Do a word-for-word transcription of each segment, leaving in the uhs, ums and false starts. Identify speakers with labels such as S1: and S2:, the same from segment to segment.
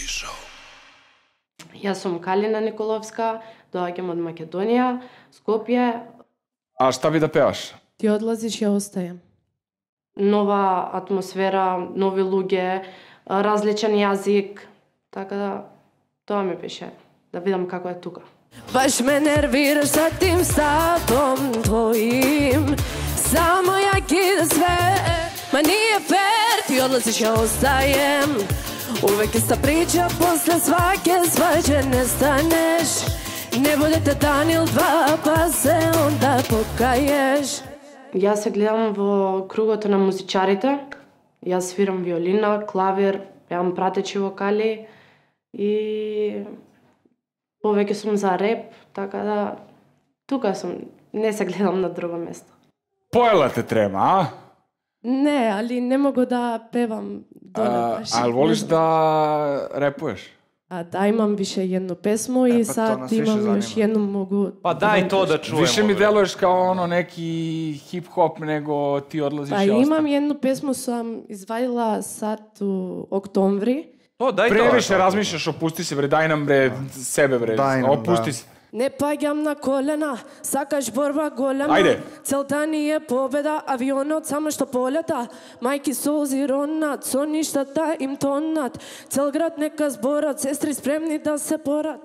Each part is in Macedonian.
S1: Show.
S2: Јас сум Калина Николовска, доаѓам од Македонија, Скопје.
S3: А шта би да пееш?
S4: Ти одлазиш, ја остајам.
S2: Нова атмосфера, нови луѓе, различен јазик, така да тоа ми беше, да видам како е тука.
S4: Баш ме нервираш sa tim stavom tvojim, samo ja kidam sve, ma nije fair, ti odlaziš, ja ostajem. Uvek ista priča, posle svake svađe nestaneš. Ne budete dan ili dva, pa se onda pokaješ.
S2: Јас се гледам во кругото на музичарите. Јас свирам виолина, клавир, пеам пратечи вокали и повеќе сум за реп, така да тука сум, не се гледам на друго место.
S3: Поела те трема, а?
S4: Не, али не могу да певам доле баш.
S3: А, а волиш да репуеш?
S4: А да, имам више едно песмо и
S5: па,
S4: сад имам још едно могу...
S6: Па дај то да чуемо.
S3: Више ми делуваш као оно неки хип-хоп, него ти одлазиш
S4: Па
S3: и
S4: имам
S3: остан.
S4: едно песмо сам извадила сад у октомври.
S6: То дај
S3: Превише
S6: тоа.
S3: размишljаш, опусти се бре, дај нам бре себе бре,
S5: Дај нам,
S3: опусти
S5: да.
S3: се.
S4: Не паѓам на колена, сакаш борба голема.
S3: Ајде.
S4: Целта ни е победа, авионот само што полета. Мајки солзи ронат, со ништата им тонат. Цел град нека зборат, сестри спремни да се порат.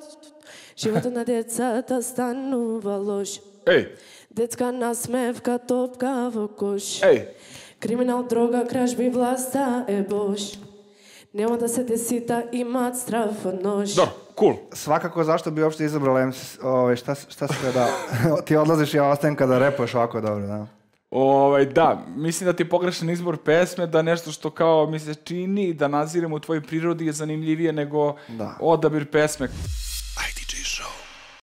S4: Животот на децата станува лош.
S3: Еј,
S4: Детска насмевка, топка во кош.
S3: еј,
S4: Криминал, дрога, кражби, власта е бош. Нема да се десита, имат страф од нож.
S3: добро, кул.
S5: Свакако зашто би уопште избрал М С, овој шта шта се да ти одлазиш, ја остаем када репуеш овако добро, да.
S3: Овај, да, мислим да ти погрешен избор песме, да нешто што као ми се чини да назирам у твој природи е занимљивие него
S5: Да.
S3: одабир песме.
S1: I D J Show.